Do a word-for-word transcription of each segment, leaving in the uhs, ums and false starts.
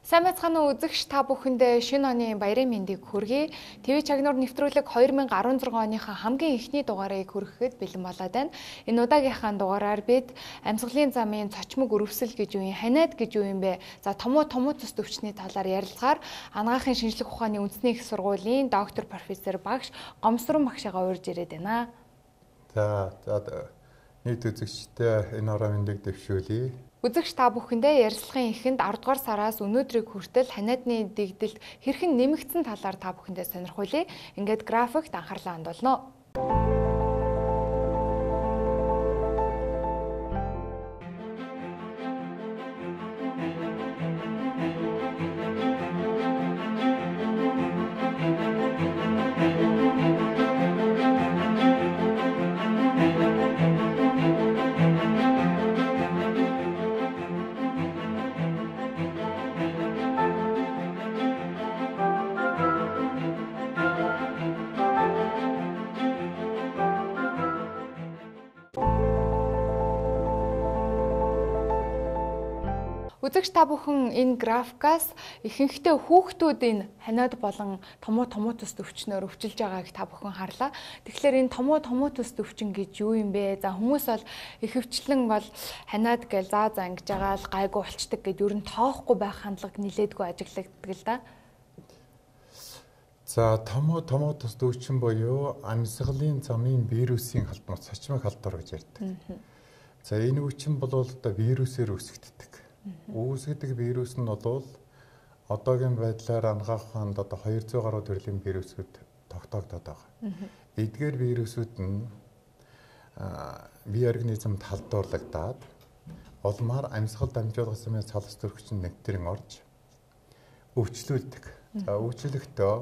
Сайн байцгаана уу үзэгч та бүхэндээ шинэ оны баярын мэндийг хүргэе. ТV Чагнуур нэвтрүүлэг two thousand sixteen оныхаа хамгийн эхний дугаарыг хүрэхэд бэлэн болоод байна. Энэ удаагийнхаа дугаараар бид амьсгалын замын цочмог өрөвсөл гэж юу юм, ханиад гэж юу юм бэ? За томуу томуу цус төвчний талаар ярилцахаар анагаахын шинжлэх ухааны үндэсний их сургуулийн доктор профессор багш Гомсрон багшаагаа урьж ирээд байна. За за нийт үзэгчтэй энэ орон мэндийг дэвшүүлье. Үзэгч та бүхэндээ ярилцлагын эхэнд ten дугаар сараас өнөөдрийг хүртэл ханиадны дэгдэлт хэрхэн нэмэгдсэн талаар та бүхэндээ сонирхуулъя. Ингээд графикт анхаарлаа хандуулно. Үзэгч та бүхэн энэ графикаас ихэнхдээ хүүхдүүд энэ ханиад болон томуу томуу төс төвчнөөр өвчилж байгааг та бүхэн харлаа. Тэгэхээр энэ томуу томуу төс төвчин гэж юу юм бэ? За хүмүүс бол ихэвчлэн бол ханиад гэж заа заа ингэж байгаа л гайгүй болчдөг гэд ер нь тоохгүй байх хандлага нилээдгүй ажиглагддаг л да. За томуу томуу төс төвчин буюу амьсгалын замын вирусын халдвар, цочмог халдвар гэж ярьдаг. За энэ үчин бол одоо вирусээр үүсгэгддэг. Үүсгэдэг вирус нь бол одоогийн байдлаар анагаах ухаанд одоо two hundred гаруй төрлийн вирусүүд тогтоогдоод байгаа. Эдгээр вирусүүд нь бие организмд халдварлагдаад улмаар амьсгал дамжуулах замын цалс төрөгчин нэгтрэн орж өвчлүүлдэг. За өвчлөлтөө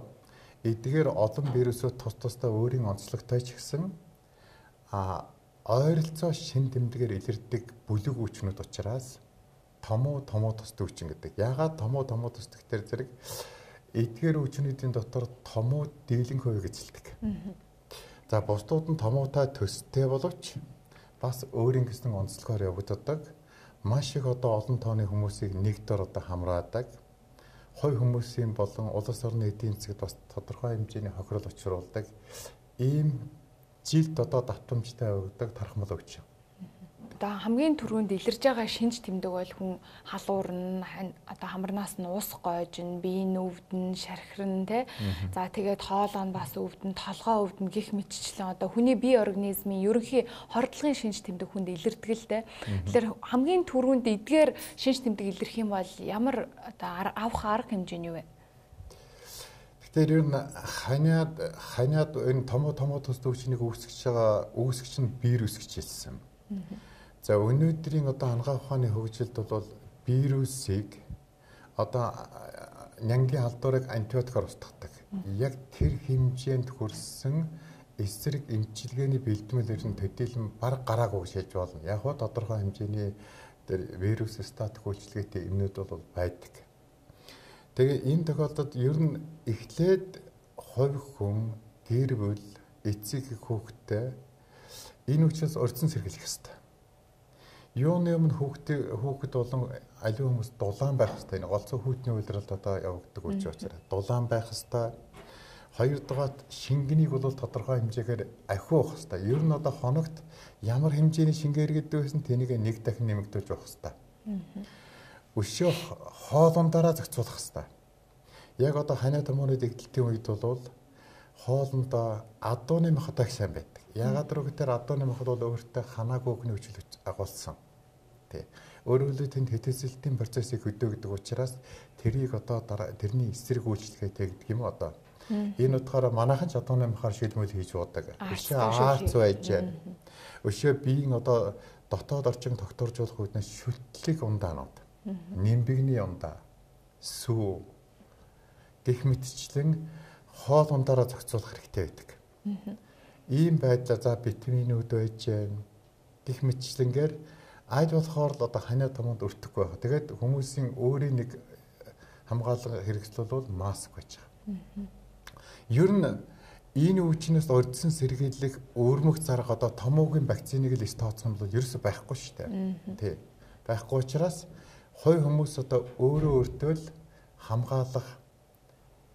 эдгээр олон вирусүүд тус тусдаа өөрийн онцлогтой ч гэсэн а ойролцоо шин тэмдгээр илэрдэг бүлэг өвчнүүд учраас томуу томуу тус төвчин гэдэг. Яагаад томуу томуу тус төвчтэр зэрэг эдгээр өвчнүүдийн дотор томуу дийлэн хувийг эзэлдэг. За бусдууд нь томуутай төстэй боловч бас өөрийн гэсэн онцлогоор явагддаг. Маш их одоо олон тооны хүмүүсийг нэг дор одоо хамраадаг. Хой хүмүүсийн болон улс орны эдийн засгт бас тодорхой хэмжээний хохирол учруулдаг. Ийм жилд одоо давтамжтай явагддаг тархмал өвчин. Одоо хамгийн түрүүнд илэрж байгаа шинж тэмдэг бол хүн халуурн одоо хамарнаас нь уус гойжин, биеийн өвдөн, шархирн тэ. За тэгээд хоолоо нь бас өвдөн, толгоо өвдөн гих мэтчлэн одоо хүний бие организмын ерөнхий хордлогын шинж тэмдэг хүнд илэрдэг л тэ. Тэгэхээр хамгийн түрүүнд эдгээр шинж тэмдэг илэрх юм бол ямар одоо авах арга хэмжээ нь юу вэ? Тэгэхээр ер нь ханиад ханиад энэ томоо томоо төс төвчнийг үүсгэж байгаа үүсгэж нь вирус гэж хэлсэн. За өнөөдрийн одоо анагаах ухааны хөгжилд бол вирусыг одоо нянгийн халдварыг антибиотикаар устгадаг. Яг тэр хэмжээнд хүрсэн эсрэг эмчилгээний бэлтгэмээр нь төдийлөн бараг гараагүй гэж хэлж болно. Яг хоо тодорхой хэмжээний тэр вирус статик үйлчилгээтэй эмнүүд бол байдаг. Тэгээ энэ тохиолдолд ер нь эхлээд хувь хүн гэр бүл эцэг хүүхэдтэй энэ учраас урьдчилан сэргийлэх ёстой. Юуны өмнө хүүхдээ хүүхэд болон аливаа хүмүүс дулаан байх хэрэгтэй. Энэ голцоо хүүтний үйлрэлд одоо явагддаг үуч учраас дулаан байх хэрэгтэй. Хоёрдугаар шингэнийг бол тодорхой хэмжээгээр ахиуах хэрэгтэй. Ер нь одоо хоногт ямар хэмжээний шингээ иргэдэг байсан тэнийг нэг дахин нэмэгдүүлж явах хэрэгтэй. Өшөө хоолундаараа зохицуулах хэрэгтэй. Яг одоо ханиад томооны дэгдэлтийн үед бол хоолндоо адууны махад их сайн байдаг. Яагаад гэвэл адууны махад бол өөртөө ханаагүй өгний хүчил агуулсан. Тэ. Өөрөөр хэлбэл тэнд хэтэсэлтийн процессыг хөдөөгдөг учраас тэрийг одоо тэрний эсрэг үйлчлэгээ тэгдэг юм одоо. Энэ утгаараа манайхан ч адууны махаар шилмэл хийж уудаг. Өшөө аарц байж. Өшөө биеийн одоо дотоод орчин тогтворжуулах үүднээс шүтлэг ундаанууд. Нимбигний ундаа, сүү гэх мэтчлэн хоол ундаараа зохицуулах хэрэгтэй байдаг. Ийм байдлаар за витаминууд байж гэх мэтчлэнгээр айд болохоор л одоо ханиад томонд өртөхгүй байх. Тэгээд хүмүүсийн өөрийн нэг хамгаалал хэрэгсэл бол маск байж байгаа. Ер нь энэ өвчнөөс урьдчилан сэргийлэх өөрмөх зарга одоо томоогийн вакциныг л тооцсон бол ерөөсөй байхгүй шүү дээ. Тий. Байхгүй учраас хувь хүмүүс одоо өөрөө өөртөө л хамгаалах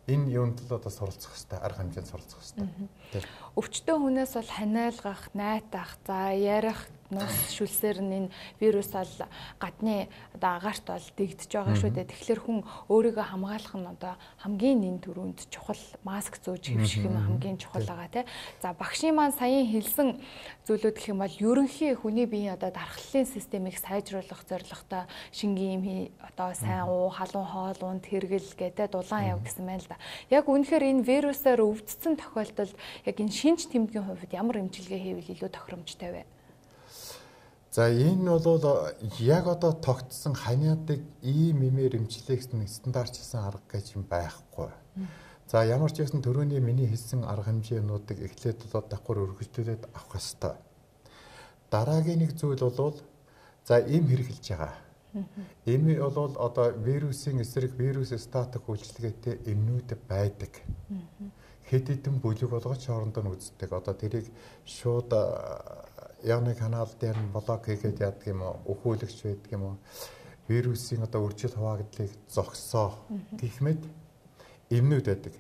энэ юунд л одоо суралцах хэрэгтэй, арга хэмжээнд суралцах хэрэгтэй. Өвчтөн хүнээс бол ханиалгах, найтах, за ярих, нус шүлсээр нь энэ вирус бол гадны одоо агаарт бол дэгдэж байгаа шүү дээ. Тэгэхээр хүн өөрийгөө хамгаалах нь одоо хамгийн нэн түрүүнд чухал, маск зөөж хэвших нь хамгийн чухал байгаа тий. За багшийн маань саяын хэлсэн зүйлүүд гэх юм бол ерөнхий хүний биеийн одоо дархлалын системийг сайжруулах зорилготой шингийн юм одоо сайн уу, халуун хоол унд хэрэгэл гэдэг дулаан яв гэсэн байна л да. Яг үнэхээр энэ вирусаар өвдсөн тохиолдолд яг энэ шинж тэмдгийн хувьд ямар эмчилгээ хийвэл илүү тохиромжтой вэ? За энэ бол яг одоо тогтсон ханиадыг ийм имээр эмчлэх стандартчилсан арга гэж юм байхгүй. За ямар ч байсан төрөний миний хэлсэн арга хэмжээнүүдийг эхлээд бол давхар өргөжлүүлээд авах хэрэгтэй. Дараагийн нэг зүйл бол за эм хэрэгжилж байгаа. Эми бол одоо вирусын эсрэг вирус статик үйлчилгээтэй эмнүүд байдаг. Хэд хэдэн бүлэг болгож хоорондоо нь үздэг. Одоо тэрийг шууд яаны канал дээр нь блок хийгээд яадаг юм уу, өхөөлөгч байдаг юм уу, вирусын одоо үржил хуваагдлыг зогсоо гэх мэт эмнүүд байдаг.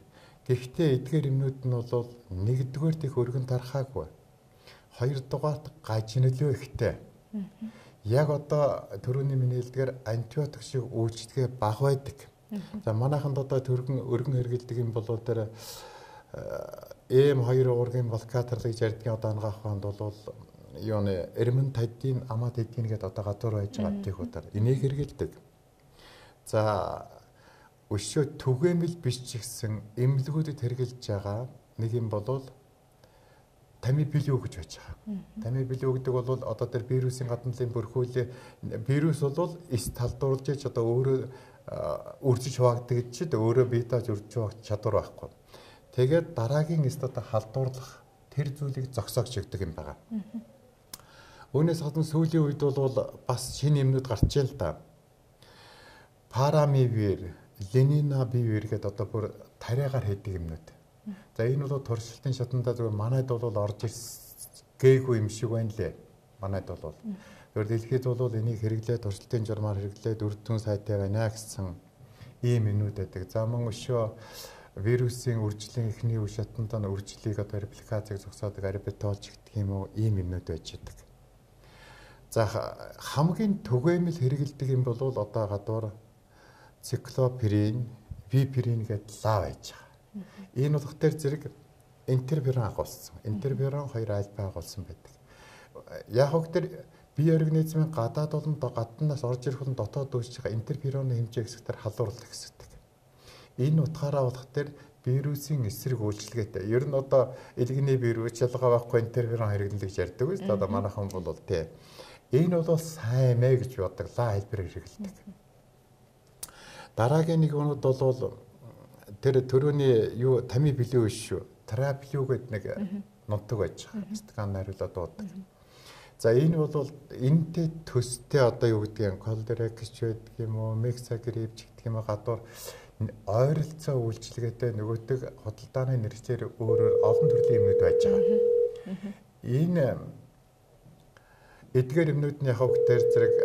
Гэхдээ эдгээр эмнүүд нь бол нэгдүгээр их өргөн тархаагүй. Хоёрдугаарт гажинлөө ихтэй. Яг одоо төрөний миний хэлдгээр антибиотик шиг үйлчлэгээ бага байдаг. За манайханд одоо төргөн өргөн хэрэгэлдэг юм бол тэр эм хоёр уургийн блокаторлыг ярьдгийн одоо ангаах хонд бол юуны эрмэн тадийн амаа тадийн гэдэг одоо гадуур байж байгаа тийх удаар энийг хэрэгэлдэг. За өшөө түгээмэл биш ч гэсэн эмнэлгүүдэд хэрэгэлж байгаа нэг юм бол тамифилио гэж байж байгаа. Тамифилио гэдэг бол одоо тэр вирусын гадналын бөрхүүлээ вирус бол эс талдуулж ич одоо өөрөө үржиж хуваагддаг гэж өөрөө битаж үржиж хуваагдах чадвар байхгүй. Тэгээд дараагийн эст одоо халдуурлах тэр зүйлийг зогсоогч өгдөг юм байна. Үүнээс гадна сүүлийн үед бол бас шинэ юмнууд гарч ийн л да. Парамивир, ленинабивир гэдэг одоо бүр тариагаар хийдэг юмнууд. За энэ бол туршилтын шатанда зөвхөн манайд бол орж гээгүй юм шиг байна лээ. Манайд бол. Зөвхөн дэлхийд бол энийг хэрэглээ туршилтын журмаар хэрэглээд үр дүн сайтай байна гэсэн ийм юмнууд байдаг. За мөн өшөө вирусын үржлийн эхний үе шатанд нь үржлийг одоо репликацийг зогсоодог арбитолж гэдэг юм уу ийм юмнууд байж байдаг. За хамгийн түгээмэл хэрэгэлдэг юм бол одоо гадуур циклопирин, випирин гэдэг лав байж байгаа. Энэ утгаар зэрэг интерферон агуулсан. Интерферон хоёр альфа агуулсан байдаг. Яг хөө тэр бие организмын гадаад болон гаднаас орж ирэх болон дотоод үүсэж байгаа интерфероны хэмжээ хэсгээр халуурлах хэсэгтэй. Энэ утгаараа болох тэр вирусын эсрэг үйлчилгээтэй. Ер нь одоо элэгний вирус ялгаа байхгүй интерферон хэрэглэн гэж ярьдаг үү? Одоо манайхан бол тий. Энэ бол сайн мэ гэж бодглаа хэлбэр хэрэгэлдэг. Дараагийн нэг өнөд бол тэр төрөний юу тамифилио шүү. Траплио гэдэг нэг нутаг байж байгаа. Стакан найруулаад дуудаг. За энэ бол энэтэй төстэй одоо юу гэдэг юм колеракч байдаг юм уу, мексагрипч гэдэг юм гадуур ойролцоо үйлчилгээтэй нөгөөдөг худалдааны нэрчээр өөрөөр олон төрлийн юмнууд байж байгаа. Энэ эдгээр юмнууд нь яг дээр зэрэг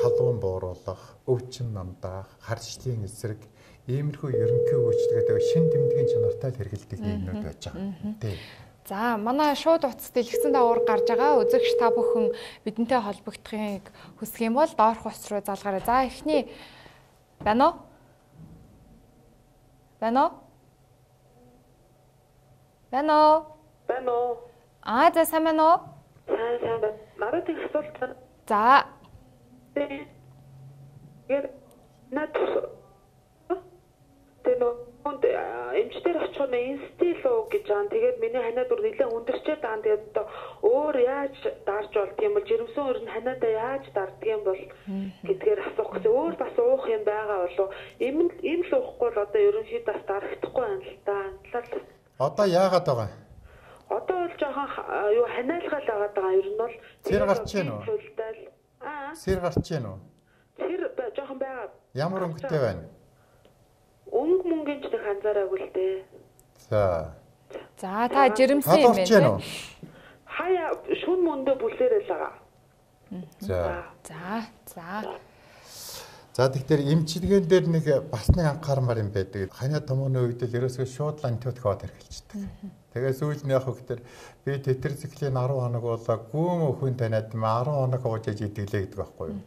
халуун бууруулах, өвчин намдаах, харшлийн эсрэг иймэрхүү ерөнхий үйлчилгээтэй шин тэмдгийн чанартай хэрэгэлдэг юмнууд байж байгаа. Тий. За манай шууд утас дэлгэсэн даавар гарч байгаа. Үзэгч та бүхэн бидэнтэй холбогдохыг хүсэх юм бол доорх утас руу залгаарай. За эхний байна уу? Байна уу? Байна уу? Байна уу? Аа за сайн байна уу? Сайн сайн байна. Надад их асуулт байна. За. Гэр над Тэно эмчтэр очиход инстило гэж аа тэгээд миний ханаа дур нэлээд өндөрчээд байгаа. Тэгээд одоо өөр яаж дарж болд юм бол жирэмсэн өөр нь ханаадаа яаж дарддаг юм бол гэдгээр асуух гэсэн. Өөр бас уух юм байгаа болов. Им им л уухгүй бол одоо ерөнхийдөө бас дарагдахгүй байна л да. Одоо яагаад байгаа? Одоо бол жоохон юу ханаалгаал байгаа даа. Ер нь бол сэр гарч ийн үү? Аа. Сэр гарч ийн үү? Сэр жоохон байгаа. Ямар өнгөтэй байна? Өнгө мөнгөний ч нэг анзаараагүй л дээ. За. За та жирэмсэн юм байна. Хаяа шүн мөндө бүлээрэл байгаа. За. За. За. За тэгэхээр эмчилгээн дээр нэг бас нэг анхаармаар юм байдаг. Ханиа томооны үед л ерөөсөө шууд антибиотик аваад хэрэгжилдэг. Тэгээд сүүлд нь яг хөөхтөр би тетрациклийн арван хоног болоо гүн өхөн таниад арван хоног ууж иж идэглээ гэдэг байхгүй юу?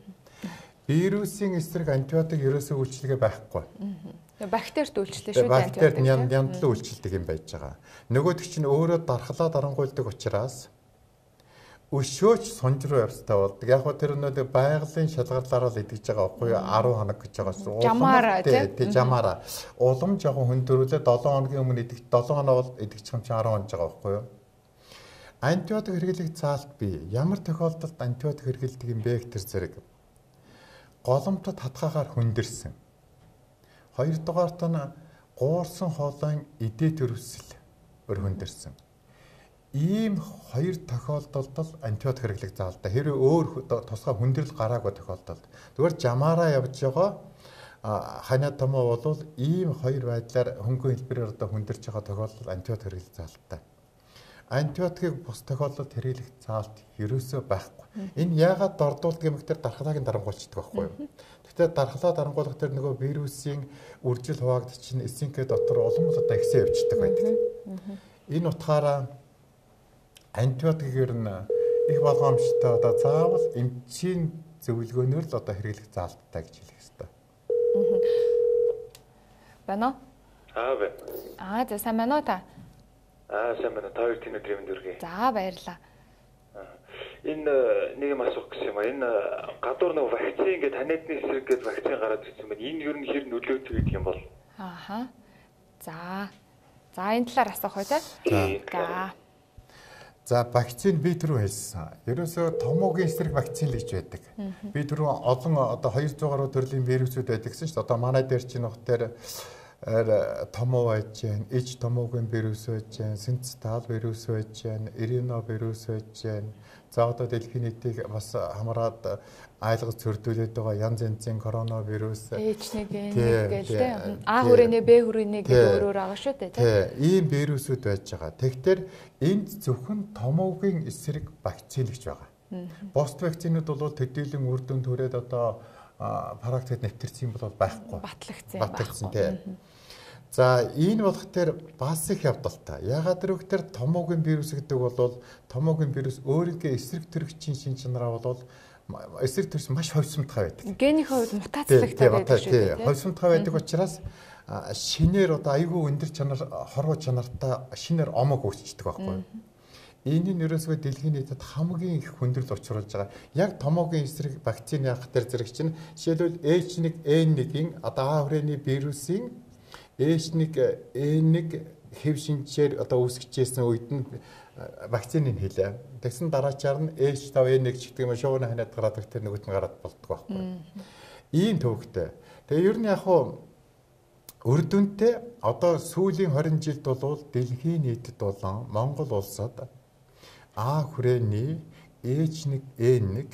Вирусын эсрэг антибиотик ерөөсөө үйлчлэгээ байхгүй. Тэгээ бактерид үйлчлээ шүү дээ. Бактерид яндлан үйлчлдэг юм байж байгаа. Нөгөөдөг чинь өөрөө дархлаа дарангуйлдаг учраас өшөөч сонж руу явцтай болдог. Яг хөө тэр нөө байгалийн шалгарлаараа л идэж байгаа байхгүй юу? арван хоног гэж байгаа шүү. Жамаараа тий. Жамаараа. Улам жоохон хүндрүүлээ долоон хоногийн өмнө идэх долоон хоног идэх юм чи арван хоног байгаа байхгүй юу? Антибиотик хэрэглэх заалт бий. Ямар тохиолдолд антибиотик хэрэглэдэг юм бэ гэх тэр зэрэг. Голомтод хатгаагаар хүндэрсэн. Хоёрдугаарт нь гуурсан хоолойн эдээ төрөвсөл өр хүндэрсэн. Ийм хоёр тохиолдолд л антибиотик хэрэглэх заалтай. Хэрвээ өөр тусгай хүндрэл гараагүй тохиолдолд. Зүгээр жамаараа явж байгаа ханиа томоо бол ийм хоёр байдлаар хөнгөн хэлбэрээр одоо хүндэрч байгаа тохиолдолд антибиотик хэрэглэх заалтай. Антибиотикийг бус тохиолдолд хэрэглэх заалт ерөөсөө байхгүй. Энэ яагаад дордуулдаг юм гэхээр дархлааг нь дарангуйлчдаг байхгүй юу? Гэхдээ дархлаа дарангуулах тэр нөгөө вирусын үржил хуваагдчих чинь эсинкээ дотор улам л одоо ихсээ явчихдаг байдаг. Энэ утгаараа антибиотикээр нь их болгоомжтой одоо заавал эмчийн зөвлөгөөнөөр л одоо хэрэглэх заалттай гэж хэлэх ёстой. Байна уу? Аа бэ. Аа за сайн байна уу та? Аа сайн байна. Та хоёр тийм өдрийн мэнд хүргэе. За баярлалаа. Энэ нэг юм асуух гэсэн юм а. Энэ гадуур нэг вакцин ингээд таниадны эсрэг гээд вакцин гараад ирсэн байна. Энэ ер нь хэр нөлөөтэй гэдэг юм бол? Ааха. За. За энэ талаар асуух уу те? За. За вакцин би түрүү хэлсэн. Ерөөсөө томоогийн эсрэг вакцин л гэж байдаг. Би түрүү олон одоо двухсад гаруй төрлийн вирусүүд байдаг гэсэн чинь одоо манай дээр чинь нөхдөр томоо байж гэн, иж томоогийн вирус байж гэн, синцитал вирус байж гэн, ирино вирус байж гэн. За одоо дэлхийн нийтийг бас хамраад айлгаж цөрдүүлээд байгаа янз янзын коронавирус эйч нэг эн нэг гээл тэ А хүрээний Б хүрээний гэдэг өөрөөр байгаа шүү дээ тийм ийм вирусүүд байж байгаа. Тэгэхээр энд зөвхөн томоогийн эсрэг вакцин гэж байгаа. Бусд вакцинууд бол төдийлөн үр дүн төрээд одоо практикт нэвтэрсэн бол байхгүй. Батлагдсан батлагдсан тийм. За энэ болох тэр бас их явдалтай. Ягаад гэвэл томоогийн вирус гэдэг бол томоогийн вирус өөрийнхөө эсрэг төрөгчийн шин чанараа бол эсрэг төрс маш ховсмтгай байдаг. Генийн хувьд мутацлагтай байдаг шүү дээ. Ховсмтгай байдаг учраас шинээр одоо айгүй өндөр чанар хорвоо чанартай шинээр омог үүсчдэг байхгүй юу? Энэ нь ерөөсөө дэлхийн нийтэд хамгийн их хүндрэл учруулж байгаа. Яг томоогийн эсрэг вакцин яах дээр зэрэг чинь жишээлбэл эйч нэг эн нэг-ийн одоо А хүрээний вирусын эйч нэг эн нэг хэв шинжээр одоо үүсгэжсэн үед нь вакциныг хийлээ. Тэгсэн дараачаар нь эйч файв эн нэг ч гэдэг юм шуугны ханиад гараад тэр нөгөөт нь гараад болдог байхгүй. Ийм төвхтэй. Тэгээ ер нь яг хуу үр дүнтэй одоо сүүлийн хорин жилд бол дэлхийн нийтэд болон Монгол улсад А хүрээний эйч нэг эн нэг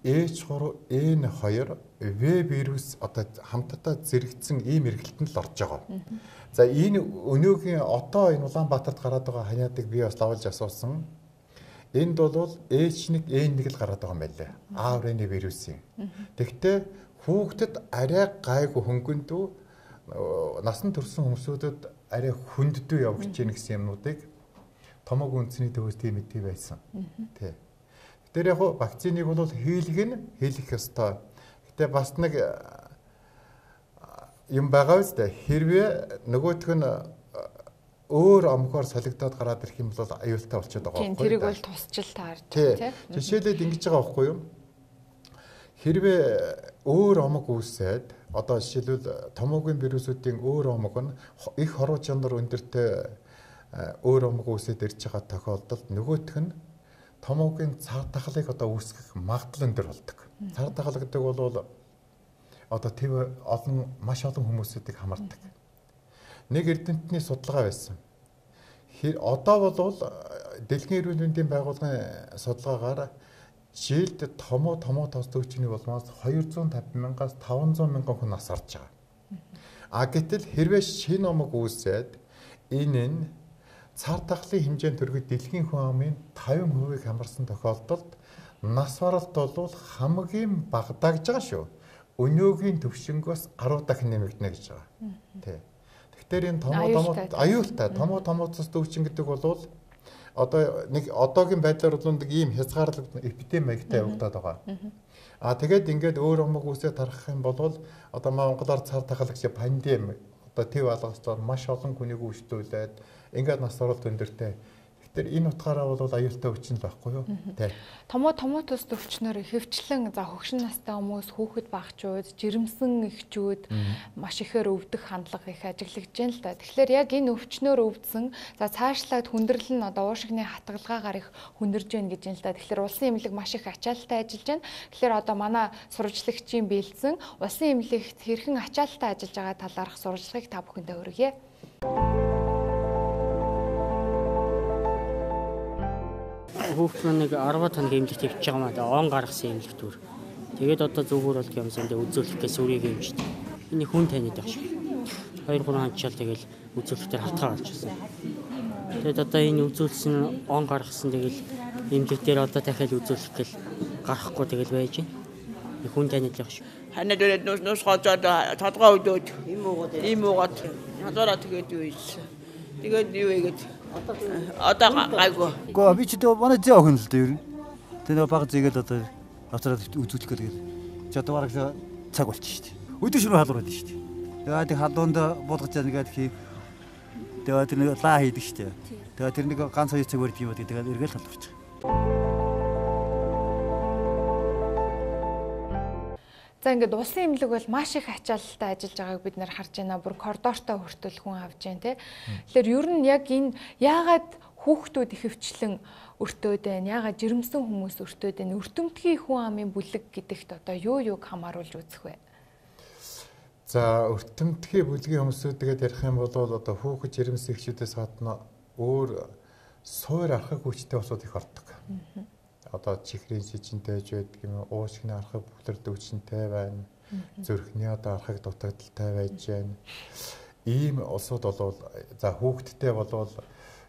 эйч гурав эн хоёр В вирус одоо хамтдаа зэрэгцсэн ийм эргэлтэнд л орж байгаа. За энэ өнөөгийн одоо энэ Улаанбаатарт гараад байгаа ханиадыг би бас лавлж асуусан. Энд бол эйч нэг эн нэг л гараад байгаа юм байлээ. А хүрээний вирусын. Тэгвэл хүүхдэд арай гайгүй хөнгөндөө насан турсан хүмүүсүүдэд арай хүнддүү явж гин гэсэн юмнуудыг томоогийн үндэсний төвөөс тийм мэдээ байсан. Тий. Тэр яг вакциныг бол хийлгэх нь хийлгэх ёстой. Гэтэ бас нэг юм байгаа үстэй. Хэрвээ нөгөөх нь өөр омгоор солигдоод гараад ирэх юм бол аюултай болчиход байгаа байхгүй. Тийм тэрийг бол тусчил таарч тий. Жишээлбэл ингэж байгаа байхгүй юу? Хэрвээ өөр омог үүсээд одоо жишээлбэл томоогийн вирусуудын өөр омог нь их хорвоо чанар өндөртэй өөр омог үүсээд ирж байгаа тохиолдолд нөгөөх нь томоогийн цар тахлыг одоо үүсгэх магадлал өндөр болдог. Цар тахал гэдэг бол одоо төв олон маш олон хүмүүсүүдийг хамардаг. Нэг эрдэмтний судалгаа байсан. Одоо бол дэлхийн эрүүл мэндийн байгууллагын судалгаагаар жилд томоо томоо тос төвчний болмоос двухсад и пятьдесят мянгаас таванзаа мянган хүн нас орж байгаа. А гэтэл хэрвээ шинэ омог үүсээд энэ нь цар тахлын хэмжээнд төрөхөд дэлхийн хүн амын тавин хувийг хамарсан тохиолдолд нас баралт бол хамгийн багадагж байгаа шүү. өнөөгийн төвшингөөс арав дахин нэмэгдэнэ гэж байгаа. Тий. Тэгэхээр энэ томоо томоо аюултай томоо томоо цус төвчин гэдэг бол одоо нэг одоогийн байдлаар бол нэг ийм хязгаарлалт эпидеми маягтай явагдаад байгаа. Аа тэгээд ингээд өөр өмг үсээ тарах юм бол одоо Монголоор цар тахалагч пандеми одоо төв алгасчаар маш олон хүнийг өвчлүүлээд ингээд нас оролт өндөртэй. Тэгэхээр энэ утгаараа бол аюултай өвчин л байхгүй юу? Тий. Томо томотос төвчнөр хөвчлэн за хөгшин настай хүмүүс, хүүхэд багчууд, жирэмсэн эхчүүд маш ихээр өвдөх хандлага их ажиглагдж байна л да. Тэгэхээр яг энэ өвчнөр өвдсөн за цаашлаад хүндрэл нь одоо уушигны хатгалгаагаар их хүндэрж байна гэж юм л да. Тэгэхээр улсын эмнэлэг маш их ачаалттай ажиллаж байна. Тэгэхээр одоо манай сурвалжлагчийн бэлдсэн улсын эмнэлэгт хэрхэн ачаалттай ажиллаж байгаа талаарх сурвалжлагыг та бүхэндээ хүргье. Хүүхд маань нэг арваад хоног эмнэлэгт явж байгаа маа да он гаргасан эмнэлэгт түр. Тэгээд одоо зөвхөр бол юмсан дэ үзүүлэхээс үрийг юмжтэй. Энэ хүн таниад байх шиг. хоёр гурван хончаал тэгэл үзүүлэлтээр халтгаа гарчихсан. Тэгээд одоо энэ үзүүлсэн он гаргасан тэгэл эмнэлэгтэр одоо дахиад үзүүлэх гэл гарахгүй тэгэл байж байна. Хүн таниад байх шиг. Ханаа дөрөд нус нус гоцоод тодгоо өдөөд ийм уугаад ийм уугаад надаараа тэгээд юу ийсэн. Тэгээд юу ийгээд одоо гайгүй. Гоо би ч дөө манай зээ охин л дээ ер нь. Тэгээ баг зээгээд одоо авцраад үзүүлэх гээд. Чи одоо бараг цаг болчих шүү дээ. Өдөр шөнө халуураад шүү дээ. Тэгээ тэг халуунд буулгаж яагаад хий. Тэгээ тэр нэг лаа хийдэг шүү дээ. Тэгээ тэр нэг ганц хоёр цаг өрд юм байдаг. Тэгээ эргээл халуурч. За ингээд улсын эмнэлэг бол маш их ачаалттай ажиллаж байгааг бид нэр харж байна. Бүр коридортой хүртэл хүн авж байна те. Тэгэхээр ер нь яг энэ яагаад хүүхдүүд их хөвчлэн өртөөд байна? Яагаад жирэмсэн хүмүүс өртөөд байна? Өртөмтгий хүн амын бүлэг гэдэгт одоо юу юуг хамааруулж үзэх вэ? За өртөмтгий бүлгийн хүмүүсүүдгээд ярих юм бол одоо хүүхэд жирэмсэн эхчүүдээс гадна өөр суур архаг хүчтэй усууд их ордог. Одоо чихрийн жижинтэй байж байдаг юм уу, уушгины архаг бүлэр дөвчнтэй байна. Зүрхний одоо архаг дутагдaltaй байж байна. Ийм улсууд бол за хүүхдтэй болвол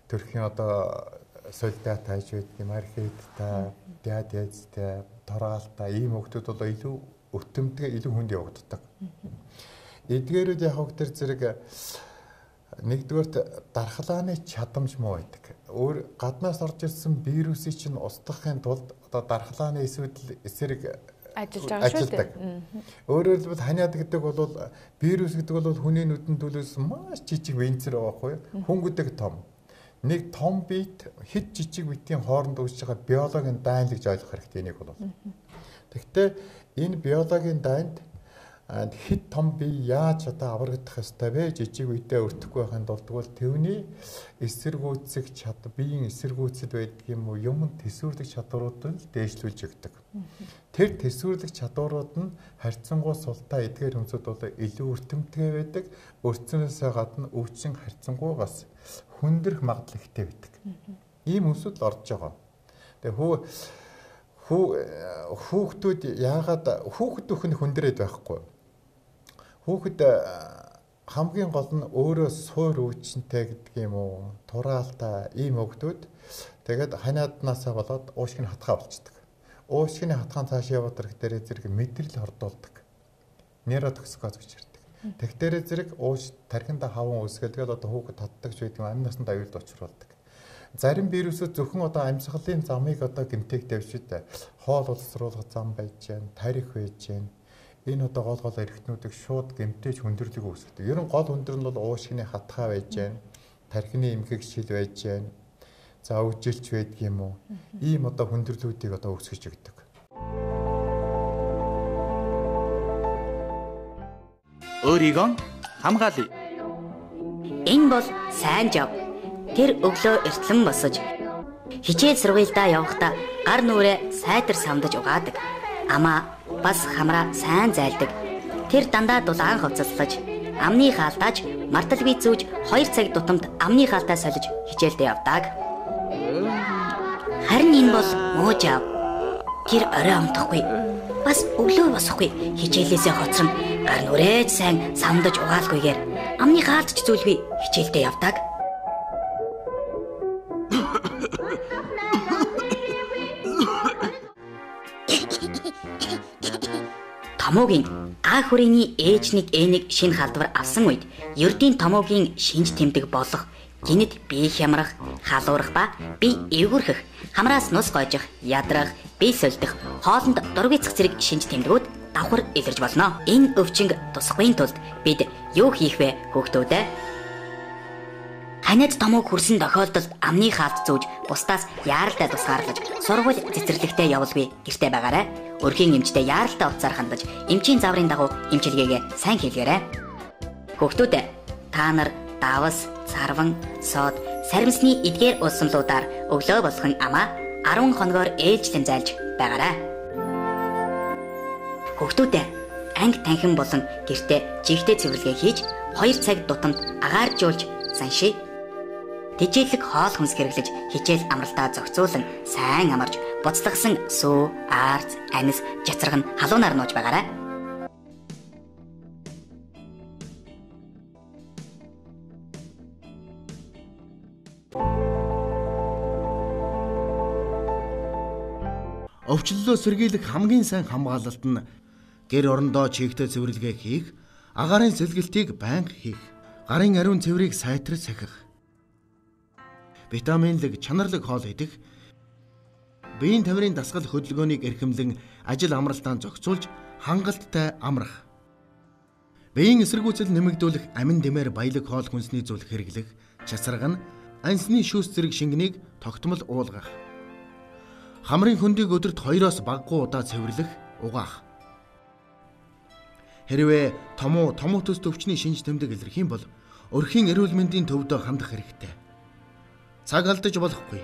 төрхийн одоо солида тааж байдаг юм, архиттай, диадезтэй, тораалтай ийм хүүхдүүд бол илүү өртөмтгөө илүү хүнд явагддаг. Эдгээрүүд яг хог төр зэрэг нэгдүгээрт дархлааны чадамж муу байдаг. Өөр гаднаас орж ирсэн вирусыг чинь устгахын тулд одоо дархлааны эсвэл эсрэг ажиллаж байгаа шүү дээ. Өөрөөр хэлбэл ханиад гэдэг бол вирус гэдэг бол хүний нүдэнд төлөөс маш жижиг венцэр байгаа байхгүй юу? Хөнгөдөг том. Нэг том биет хэд жижиг битийн хооронд үүсэж байгаа биологийн дайн л гэж ойлгох хэрэгтэй энийг бол. Тэгэхдээ энэ биологийн дайнд хэд том бие яаж одоо аврагдах ёстой вэ? Жижиг үедээ өртөхгүй байхын тулд бол тэвний эсэргүүцэх чадвар, биеийн эсэргүүцэд байдаг юм уу, юм төсвөрлөх чадваруудыг дээшлүүлж өгдөг. Тэр төсвөрлөх чадварууд нь харьцангуй султай эдгээр хүмүүсд бол илүү өртөмтгэй байдаг. Өртснөөсөө гадна өвчин харьцангуй бас хүндрэх магадлал ихтэй байдаг. Ийм хүмүүсд л орж байгаа. Тэгээ хүү хүүхдүүд яагаад хүүхэд өхөн хүндрээд байхгүй? Хүүхэд хамгийн гол нь өөрөө суур өвчнтэй гэдэг юм уу, тураалтай ийм хүүхдүүд тэгээд ханиаднаасаа болоод уушгины хатгаа болчдөг. Уушгины хатгаан цааш яваад ирэх дээрээ зэрэг мэдрэл хордуулдаг. Нейротоксикоз гэж ярьдаг. Тэгх дээрээ зэрэг ууш тархинда хаван үүсгээл тэгээд одоо хүүхэд татдаг ч гэдэг юм амь насанд аюулд учруулдаг. Зарим вирусууд зөвхөн одоо амьсгалын замыг одоо гэмтэйг тавьшид хоол улсруулах зам байж гэн, тарих байж гэн. Энэ одоо гол гол эрхтнүүдийг шууд гэмтээж хүндрэлийг үүсгэдэг. Ер нь гол хүндэр нь бол уушгины хатгаа байж гэн, тархины эмгэг шил байж гэн. За үжилч байдаг юм уу? Ийм одоо хүндрэлүүдийг одоо үүсгэж өгдөг. Өөрийгөө хамгаалъя. Энэ бол сайн жав. Тэр өглөө эртлэн босож хичээл сургуульдаа явахдаа гар нүрээ сайтар самдаж угаадаг. Амаа бас хамраа сайн зайлдаг. Тэр дандаа дулаан хувцаслаж, амны хаалтааж, марталгүй зүүж хоёр цаг тутамд амны хаалтаа солиж хичээлдээ явдаг. Харин энэ бол муу жав. Тэр орой амтахгүй. Бас өглөө босохгүй. Хичээлээсээ хоцрон гар нүрээ сайн самдаж угаалгүйгээр амны хаалтч зүйлгүй хичээлдээ явдаг. Томоогийн А хүрээний ээж нэг Э нэг шинэ халдвар авсан үед ердийн томоогийн шинж тэмдэг болох гинэд бие хямрах, халуурах ба бие эвгүрхэх, хамраас нус гойжих, ядрах, бие сольдох, хоолнд дургүйцэх зэрэг шинж тэмдгүүд давхар илэрж болно. Энэ өвчнг тусахгүй тулд бид юу хийх вэ хүүхдүүдээ? Ханиад томог хүрсэн тохиолдолд амны хаалт зүүж бусдаас яаралтай тусгаарлаж сургууль цэцэрлэгтээ явуулгүй гэртээ байгаарай. Өрхийн эмчтэй яаралтай уцаар хандаж эмчийн зааврын дагуу эмчилгээгээ сайн хийлгээрэй. Хүүхдүүдээ та нар давас, царван, сод, саримсны эдгээр улсамлуудаар өглөө болгон амаа арван хоногоор ээлжлэн зайлж байгаарай. Хүүхдүүдээ анги танхим болон гэртээ жигтэй цэвэрлэгээ хийж хоёр цаг тутамд агааржуулж саншиг. Тэжээлэг хоол хүнс хэрэглэж хичээл амралтаа зохицуулан сайн амарч буцлагсан сүү, аарц, анис, жацраг нь халуунаар нууж байгаарай. Өвчлөлөө сэргийлэх хамгийн сайн хамгаалалт нь гэр орондоо чигтэй цэвэрлэгээ хийх, агаарын сэлгэлтийг байнга хийх, гарын ариун цэврийг сайтар сахих, витаминлэг, чанарлаг хоол идэх, биеийн тамирын дасгал хөдөлгөөнийг эрхэмлэн ажил амралтаа зохицуулж хангалттай амрах, биеийн эсэргүүцэл нэмэгдүүлэх амин дэмээр баялаг хоол хүнсний зүйл хэрэглэх, часарга нь ансны шүүс зэрэг шингэнийг тогтмол уулгах, хамрын хөндийг өдөрт хоёроос багагүй удаа цэвэрлэх, угаах. Хэрвээ томуу, томуу төс төвчний шинж тэмдэг илэрх юм бол өрхийн эрүүл мэндийн төвдөө хандах хэрэгтэй. Цаг алдаж болохгүй.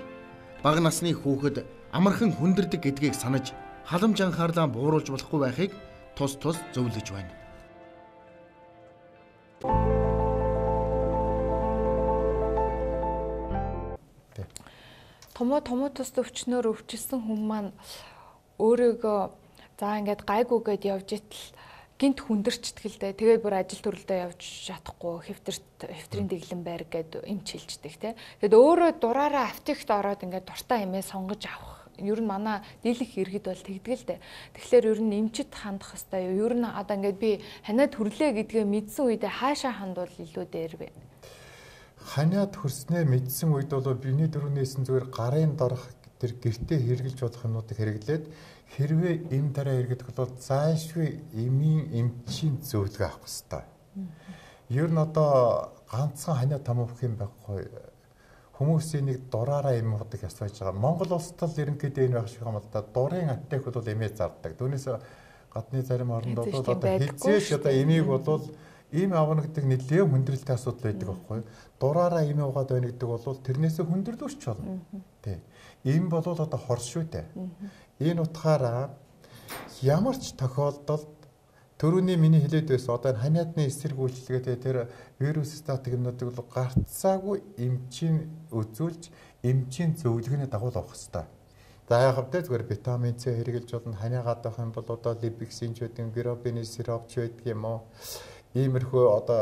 Бага насны хүүхэд амархан хүндэрдэг гэдгийг санаж халамж анхаарлаа бууруулж болохгүй байхыг тус тус зөвлөж байна. Томоо томоо тус өвчнөөр өвчлсөн хүн маань өөрийгөө за ингээд гайгүйгээд явж итэл гинт хүндэрчдэг л дээ. Тэгээд бүр ажил төрөлдөө явж чадахгүй хэвтэрт хэвтрийн дэглэн байр гэд эмч хэлждэг те. Тэгэд өөрөө дураараа аптект ороод ингээд дуртай эмээ сонгож авах. Ер нь манай дийлэх иргэд бол тэгдэг л дээ. Тэгэхээр ер нь эмчит хандах хэвээр юу. Ер нь одоо ингээд би ханиад хүрлээ гэдгээ мэдсэн үедээ хаашаа хандвал илүү дээр вэ? Ханиад хүрснээ мэдсэн үед бол биений дөрөвнээсэн зүгээр гарын дорох тэр гэртээ хэрглэж болох юмнуудыг хэрэглээд хэрвээ эм дараа иргэдэг бол заашгүй эмийн эмчийн зөвлөгөө авах хэрэгтэй. Ер нь одоо ганцхан ханиад томох юм байхгүй. Хүмүүсийн нэг дураараа эм удаг асууж байгаа. Монгол улсад л ерөнхийдөө энэ байх шиг юм л да. Дурын аптек бол эмээ зардаг. Түүнээс гадны зарим орнд бол одоо хязгаарч одоо эмийг бол ийм авна гэдэг нэлээд хүндрэлтэй асуудал байдаг байхгүй. Дураараа эмээ угаад байна гэдэг бол тэрнээсээ хүндрэлүүч болно. Тий. Ийм бол одоо хор шүү дээ. Энэ утгаараа ямар ч тохиолдолд төрөний миний хэлээд байсан одоо ханиадны эсрэг үйлчлэгээ тэр вирус статик юмнуудыг бол гарцаагүй эмчийн үзүүлж эмчийн зөвлөгөөний дагуу авах хэрэгтэй. За яг хэвдээ зүгээр витамин С хэрэглэж болно. Ханиагаад байх юм бол одоо либиксин ч гэдэг гробины сироп ч байдаг юм уу? Иймэрхүү одоо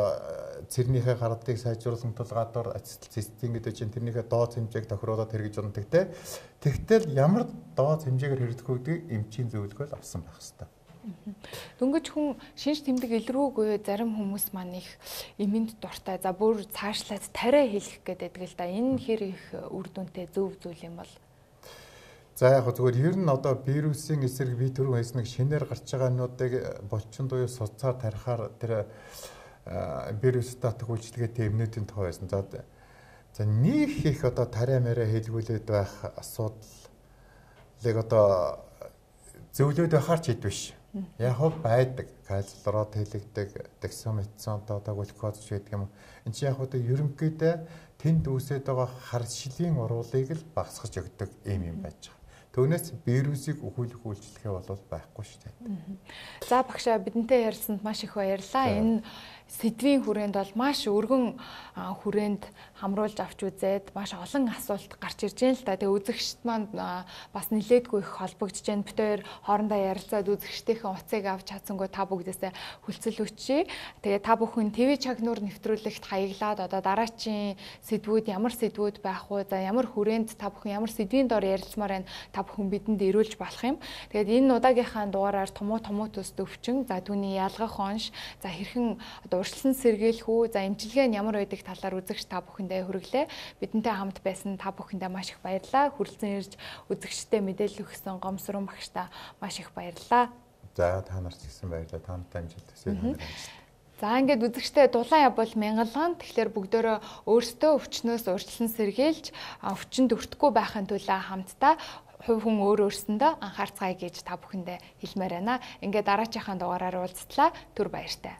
цэрнийхээ гардыг сайжруулсан тул гадуур ацетилцистин гэдэг чинь тэрнийхээ дооц хэмжээг тохируулаад хэрэгж ундаг те. Тэгтэл ямар дооц хэмжээгээр хэрэгдэх үүдгийг эмчийн зөвлөгөөл авсан байх хэрэгтэй. Дөнгөж хүн шинж тэмдэг илрүүгүй зарим хүмүүс маань их эмэнд дуртай. За бүр цаашлаад тариа хэлэх гэдэг л да. Энэ хэр их үр дүнтэй зөв зүйл юм бол. За яг зүгээр ер нь одоо вирусын эсрэг бие төрөө хийснэг шинээр гарч байгаа юмнуудыг болчин буюу суцаар тарихаар тэр вирус статик үйлчлэгээтэй эмнүүдийн тоо байсан. За за нэг их одоо тариа мэрэ хэлгүүлээд байх асуудлыг одоо зөвлөд байхаар ч хэд биш. Яг хөө байдаг. Кальцлород хэлэгдэг, дексаметазон одоо глюкоз гэдэг юм. Энд чинь яг одоо ерөнхийдөө тэнд үүсээд байгаа харшлийн урвалыг л багасгаж өгдөг юм юм байж байгаа. Түүнээс вирусыг өхүүлэх үйлчлэгээ бол байхгүй шүү дээ. За багшаа бидэнтэй ярилцсанд маш их баярлалаа. Энэ сэдвийн хүрээнд бол маш өргөн хүрээнд хамруулж авч үзээд маш олон асуулт гарч ирж байна л да. Тэгээ үзэгчд маань бас нилээдгүй их холбогдож байна. Бид хоёр хоорондоо ярилцаад үзэгчдийн утсыг авч чадсангүй та бүгдээсээ хүлцэл өчье. Тэгээ та бүхэн ТV Чагнуур нэвтрүүлэгт хаяглаад одоо дараачийн сэдвүүд ямар сэдвүүд байх вэ? За ямар хүрээнд та бүхэн ямар сэдвийн дор ярилцмаар байна? Та бүхэн бидэнд ирүүлж болох юм. Тэгээд энэ удаагийнхаа дугаараар томуу томуу төс өвчин, за түүний ялгах онш, за хэрхэн одоо урьдчилан сэргийлэх үү, за эмчилгээ нь ямар байдаг талаар үзэгч та бүхэндээ хүргэлээ. Бидэнтэй хамт байсан та бүхэндээ маш их баярлалаа. Хүрэлцэн ирж үзэгчтэй мэдээлэл өгсөн Гомсрон багштаа маш их баярлалаа. За та нарт гэсэн баярлалаа. Та нартай амжилт хүсье. За ингээд үзэгчтэй дулаан явбал мянган. Тэгэхээр бүгдөө өөрсдөө өвчнөөс урьдчилан сэргийлж өвчнөд өртөхгүй байхын тулд хамтдаа хувь хүн өөр өөрсөндөө анхаарцгаая гэж та бүхэндээ хэлмээр байна. Ингээд дараачихан дугаараар уулзтлаа. Түр баяртай.